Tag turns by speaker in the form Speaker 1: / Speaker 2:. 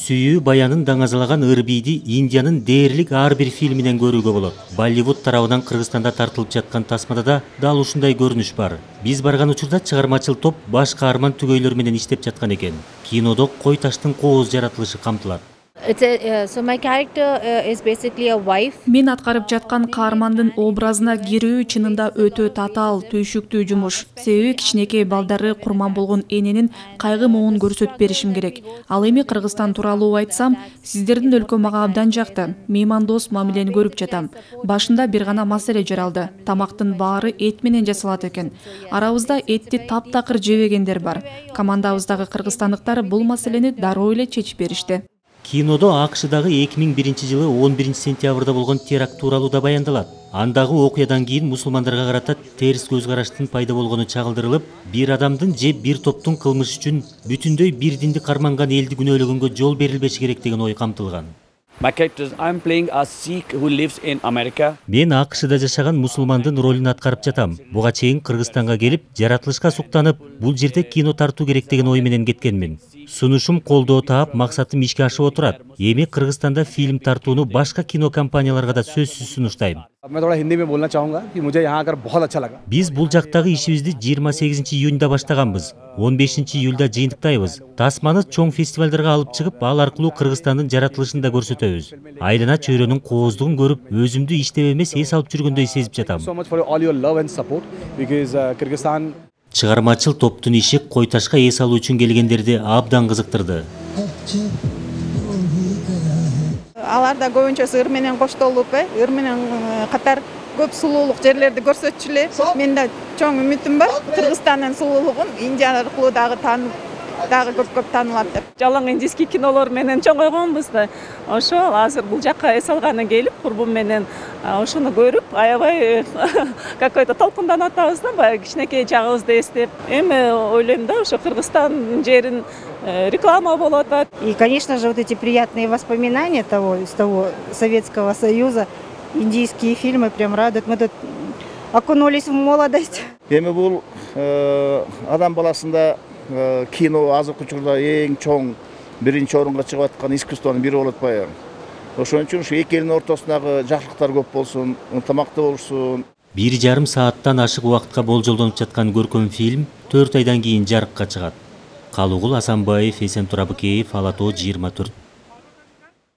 Speaker 1: Сүйүү баянын даңазалаган ырбийди Индиянын дээрлик ар бир фильминен көрүүгө болот. Болливуд тарабынан Кыргызстанда тартылып жаткан тасмада да дал ушундай көрүнүш бар. Биз барган учурда чыгармачыл топ баш каарман түгөйлөр менен иштеп жаткан экен. Кинодо кой таштын кооз жаратылышы камтылат.
Speaker 2: So my character is basically a wife.
Speaker 3: Мен аткарып жаткан каармандын образына кирүү чынында өтө татаал, түйшүктүү жумуш. Себеби кичинекей балдары курман болгон эненин кайгы моун көрсөтүп беришим керек. Ал эми Кыргызстан тууралуу айтсам, сиздердин өлкө мага абдан жакты. Меймандос мамилени көрүп жатам. Башында бир гана маселе жаралды. Тамактын баары эт менен жасалат экен. Арабызда этти таптакыр жебегендер бар. Командабыздагы кыргызстандыктар бул маселени дароо эле чечип беришти.
Speaker 1: Кинодо АКШдагы 2001-жылы 11-сентябрда болгон теракт тууралуу да баяндалат. Андагы окуядан кийин мусулмандарга карата терс көз караштын пайда болгону чагылдырылып, бир адамдын же бир топтун кылмыш үчүн бүтүндөй бир динди карманган элди күнөөлөгөнгө жол берилбеши керек деген ой камтылган.
Speaker 4: I'm playing a Sikh who lives in America.
Speaker 1: Мен АКШда жашаган мусулмандын ролун аткарып жатам. Буга чейин Кыргызстанга келип, жаратылышка суктанып, бул жерде кино тартуу керек деген ой менен кеткенмин. Сунушум колдоо таап, максатым ишке ашып отурат. Эми Кыргызстанда фильм тартууну башка кино компанияларга да сөзсүз сунуштайм. Биз бул жактагы ишибизди 28-июнда баштаганбыз. 15-июлда жыйынтыктайбыз. Тасманы чоң фестивалдарга алып чыгып, ал аркылуу Кыргызстандын жаратылышын да көрсөтөбүз. Айлана чөйрөнүн кооздугун көрүп, өзүмдү иштеп эмес эс алып жүргөндөй сезип жатам. Чыгармачыл топтун иши кой ташка эс алуу үчүн келгендерди абдан кызыктырды.
Speaker 5: Алар да көбүнчөсү ыр менен коштолуп, ыр менен катар көп сулуулук жерлерди көрсөтчү эле. Менде чоң үмүтүм бар. Кыргызстандын сулуулугун Индия аркылуу дагы көп таанылат деп.
Speaker 6: Жалаң индийский кинолор менен чоңойгонбуз да. Ошол азыр бул жакка эс алганы келип, курбум менен ошону көрүп, аябай какой-то толкунданып атабыз да, баягы кичинекей чагыбызды эстеп. Эми ойлойм да, ошо Кыргызстан жерин реклама болуп атат.
Speaker 7: И, конечно же, вот эти приятные воспоминания из того Советского Союза, индийские фильмы прям радуют. Мы тут окунулись в молодость.
Speaker 8: Эми бул адам баласында кино азыркы учурда эң чоң биринчи орунга чыгып аткан искусствонун бири болуп атпайбы. Ошон үчүн ушу эки элдин ортосундагы жакшылыктар көп болсун, ынтымактуу болушун.
Speaker 1: 1,5 сааттан ашык убакытка болжолдонуп жаткан көркөм фильм 4 айдан кийин жарыкка чыгат. Калуугул Асанбаев, Эсен Турабыкеев, Ала Тоо 24.